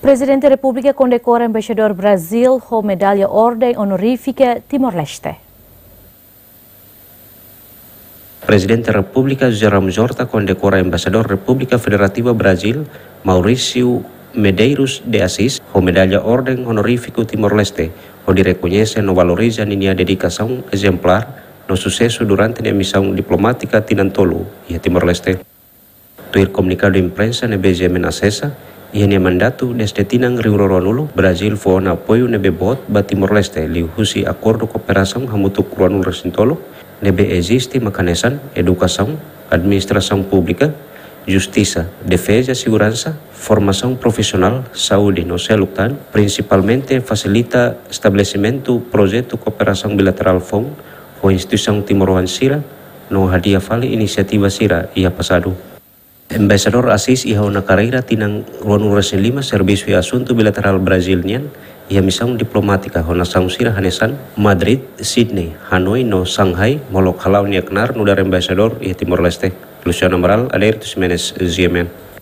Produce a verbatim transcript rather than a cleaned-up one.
Prezidente Repúblika kondekora Embaixadór Brazíl ho Medalla Orden Onorífika Timor-Leste. Prezidente Repúblika José Ramos Horta kondekora Embaixadór Repúblika Federativa Brazíl, Maurício Medeiros de Assis, ho Medalla Orden Onorífiku Timor-Leste, hodi rekoñese no valoriza ninia dedikasaun ezemplár no susesu durante nia misaun diplomátika tinan tolu iha Timor-Leste. Tuir komunikadu imprensa ne'ebé GMN asesa, iha nia mandatu dezde tinan rihun rua ruanulu, Brazíl fó ona apoiu ne'ebé boot ba Timor-Leste liuhusi akordu kooperasaun hamutuk ruanulu-resin-tolu ne'ebé eziste, mak hanesan edukasaun, administrasaun públika, justisa, defeza, seguransa, formasaun profisionál, saúde no seluk tan, prinsipalmente fasilita estabelesimentu projetu kooperasaun bilaterál foun ho instituisaun timoroan sira no hadi'a fali inisiativa sira iha pasadu. Embaixadór Assis iha ona karreira tinan ruanulu-resin-lima servisu iha asuntu bilaterál Brazíl nian, iha misaun diplomátika ho nasaun sira hanesan Madrid, Sydney, Hanoi no Shanghai, molok hala'o nia knaar nu'udar embaixadór iha Timor-Leste. Luciano Amaral, Adérito Ximenes, GMN.